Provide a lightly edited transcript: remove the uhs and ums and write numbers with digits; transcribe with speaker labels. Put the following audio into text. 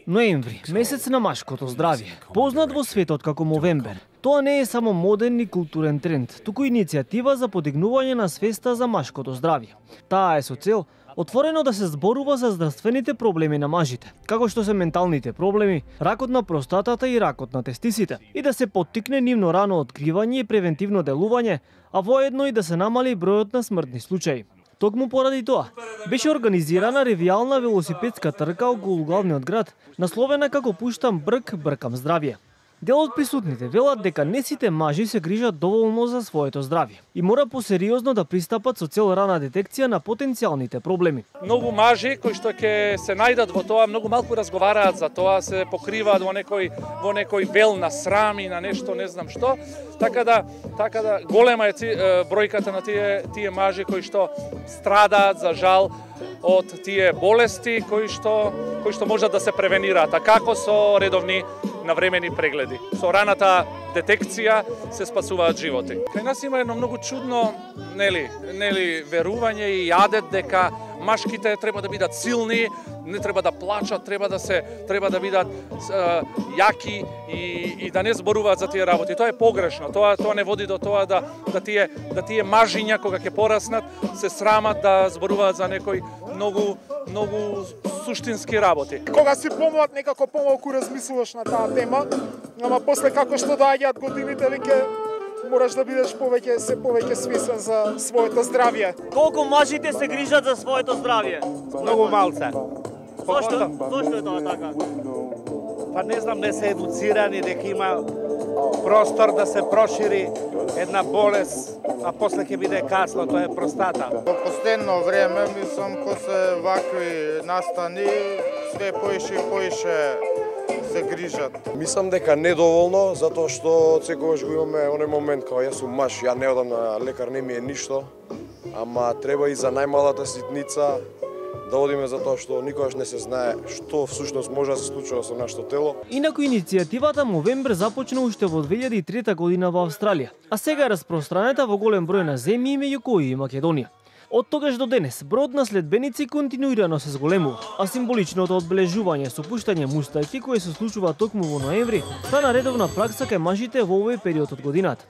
Speaker 1: Ноември, месец на машкото здравје, познат во светот како Мовембер. Тоа не е само моден и културен тренд, туку иницијатива за подигнување на свеста за машкото здравје. Таа е со цел отворено да се зборува за здравствените проблеми на мажите, како што се менталните проблеми, ракот на простатата и ракот на тестисите, и да се поттикне нивно рано откривање и превентивно делување, а воедно и да се намали бројот на смртни случаи. Токму поради тоа, беше организирана ревијална велосипедска трка околу главниот град, насловена како "Пуштам брк, бркам здравје". Дел од присутните велат дека не сите мажи се грижат доволно за своето здравје и мора посериозно да пристапат со цел рана детекција на потенцијалните проблеми.
Speaker 2: Многу мажи кои што ќе се најдат во тоа, многу малку разговараат за тоа, се покриваат во некој вел на срам и на нешто не знам што. Така да голема е бројката на тие мажи кои што страдаат за жал од тие болести кои што можат да се превенираат, а како со редовни навремени прегледи. Со раната детекција се спасуваат животи. Кај нас има едно многу чудно, верување и јадет дека машките треба да бидат силни, не треба да плачат, треба да бидат јаки и да не зборуваат за тие работи. Тоа е погрешно. Тоа не води до тоа да тие мажиња кога ќе пораснат се срамат да зборуваат за некои многу суштински работи.
Speaker 3: Кога си помлад, некако помалку размислуваш на таа тема, ама после како што доаѓаат годините, веќе мораш да бидеш повеќе свесен за своето здравје.
Speaker 1: Колку мажите се грижат за своето здравје?
Speaker 4: Многу малце.
Speaker 1: Зошто е тоа така?
Speaker 4: Па не знам, не се едуцирани дека има простор да се прошири една болест, а после ќе биде касно, тоа е простата.
Speaker 5: Во последно време, мислам, ко се вакви настани, све поише и поише се грижат.
Speaker 6: Мислам дека недоволно, затоа што секогаш го имаме оној момент кога јас сум маж, ја не одам на лекар, не ми е ништо, ама треба и за најмалата ситница да одиме, затоа што никогаш не се знае што всушност може да се случува со нашето тело.
Speaker 1: Инаку иницијативата Мовембер започна уште во 2003 година во Австралија, а сега е распространета во голем број на земји меѓу кои и Македонија. Од тогаш до денес, бројот на следбеници континуирано се зголемува, а символичното одбележување со пуштање мустаки, кое се случува токму во ноември, стана редовна пракса кај мажите во овој период од годината.